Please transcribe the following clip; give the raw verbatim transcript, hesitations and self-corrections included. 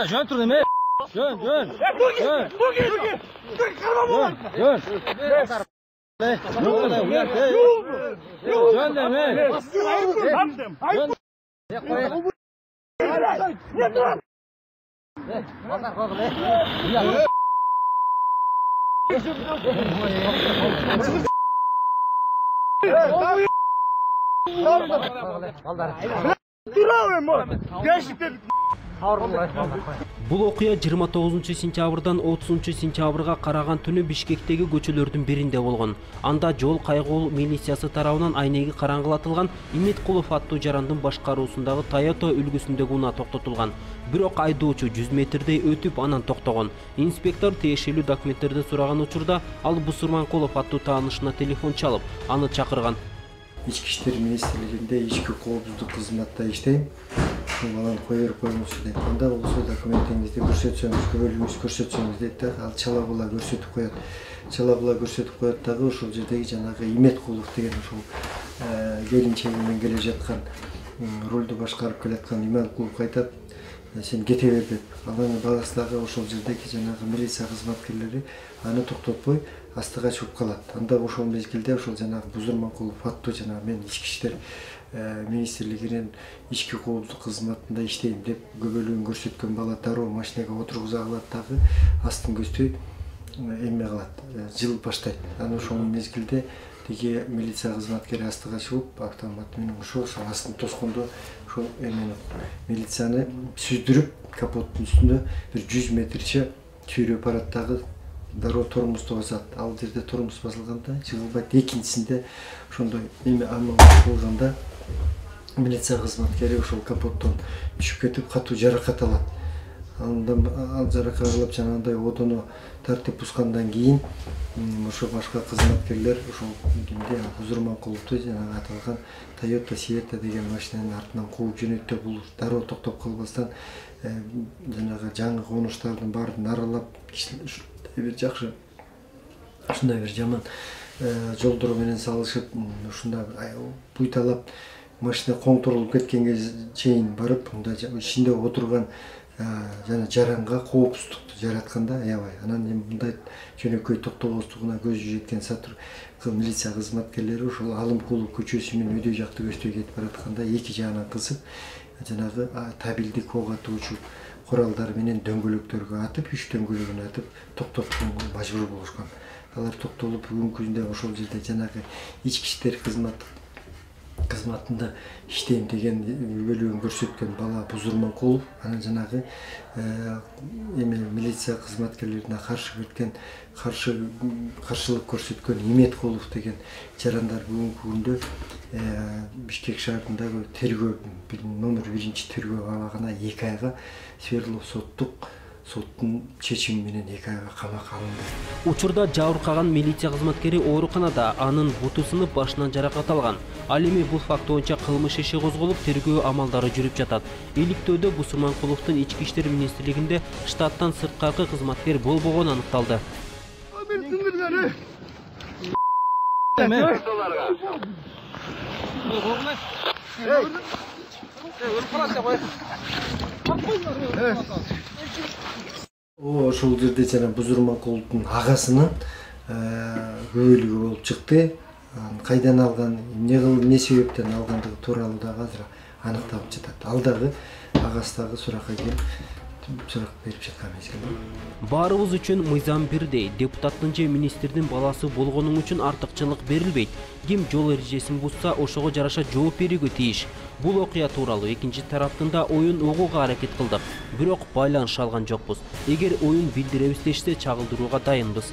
Ya jön tur neme? Jön, jön. Jön. Jön, jön. Jön deme. Jön. Бул окуя жыйырма тогузунчу сентябрдан отузунчу сентябрга караган түнү Бишкектеги көчөлөрдүн биринде болгон. Анда жол кайгылуу милициясы тарабынан айнеги караңгылатылган Иметкулов аттуу жарандын башкаруусундагы Toyota үлгүсүндөгү унаа токтотулган. Бирок айдоочу жүз метрдей өтүп анан токтогон. Инспектор тиешелүү документтерди сураган учурда ал Бусурманкулов аттуу таанышына телефон чалып, аны чакырган. Ички иштер министрлигинде ички коопсуздук кызматта иштейм. Ошол кой берип коюңуз дейт. Анда болсо документиңизди көрсөтсөңүз, көбөлүгүңүздү көрсөтсөңүз дейт да. Ал чала була көрсөтүп коет. Чала була көрсөтүп коет дагы ошол жердеги жанагы Иметкулов деген ошол келинчеги менен келе жаткан, рулду башкарып келаткан Иметкуловго айтат, сен кете бер деп. Анын баласы дагы ошол жердеги жанагы милиция кызматкерлери аны токтотпой астыга чыгып калат. Анда ошол мезгилде ошол жанагы Бузурманкулов аттуу жанагы мен ички иштер министрлигинин ички коопсуздук кызматында иштейм деп көбөлүгүн көрсөткөн бала дароо машинага отургуза калат дагы астын көздөй эме кылат, жылып баштайт. Анан ошол мезгилде тиги милиция кызматкери астыга чыгып автомат менен ошо астын тоскондо ошол эмени милицияны сүздүрүп капоттун үстүндө бир жүз метрче сүйрөп барат дагы дароо тормозду басат. Ал жерде тормоз басылганда жыгылбайт. Экинчисинде ошондой эме амал болгондо милиция кызматкери ошол капоттон түшүп кетип катуу жаракат алат. Андан ал жаракат алып жанагындай одону тартип бузгандан кийин ошо башка кызматкерлер ошол кимди Бузурманкуловду жанагы аталган Toyota Sietta деген машинанын артынан кууп жөнөттү. Бул дароо токтоп калбастан жанагы жаңы конуштардын баарын аралап бир жакшы ушундай бир жаман жолдор менен салышып, ушундай буйталап машина коңтурулуп кеткенге чейин барып, мында ичинде отурган жана жаранга коопсуздукту жаратканда аябай. Анан мындай жөнөкөй токтогоздугуна көзү жеткен сатыр милиция кызматкерлери ошол Алымкулов көчөсү менен өйдө жакты көчтөй кетип баратканда эки жагынан кысып, жанагы табилдик ок атуучу куралдар менен дөңгөлөктөргө атып, үч дөңгөлөгүн атып токтотконго мажбур болушкан. Алар токтолуп бүгүнкү күндө ошол жерде жанагы ички иштер кызмат кызматында иштейм деген көбөлүгүн көрсөткөн бала Бузурманкулов, анан жанагы эме милиция кызматкерлерине каршы кеткен, каршы каршылык көрсөткөн Иметкулов деген жарандар бүгүнкү күндө Бишкек шаарындагы тергөө номер биринчи тергөө абагына эки айга Свердлов соттук соттун чечими менен эки айга камакка алынды. Учурда жабыркаган милиция кызматкери ооруканада, анын буту сынып башынан жаракат алган. Ал эми бул факт боюнча кылмыш иши козголуп, тергөө амалдары жүрүп жатат. Иликтөөдө Бусурманкуловдун ички иштер министрлигинде штаттан сырткаркы кызматкер болбогону аныкталды. Ошол жерде жана Бузурманкуловдун агасынын көбөлүгү болуп чыкты. Кайдан алган, эмне кылып, эмне себептен алгандыгы тууралуу дагы азыр аныкталып жатат. Ал дагы агасы дагы суракка келип сурак берип жаткан мезгил. Баарыбыз үчүн мыйзам бирдей. Депутаттын же министрдин баласы болгонуң үчүн артыкчылык берилбейт. Ким жол эрежесин бузса, ошого жараша жооп берүүгө тийиш. Бул окуя тууралуу экинчи тараптын да оюн угууга аракет кылдык. Бирок байланыша алган жокпуз. Эгер оюн билдиребиз дешсе, чагылдырууга дайынбыз.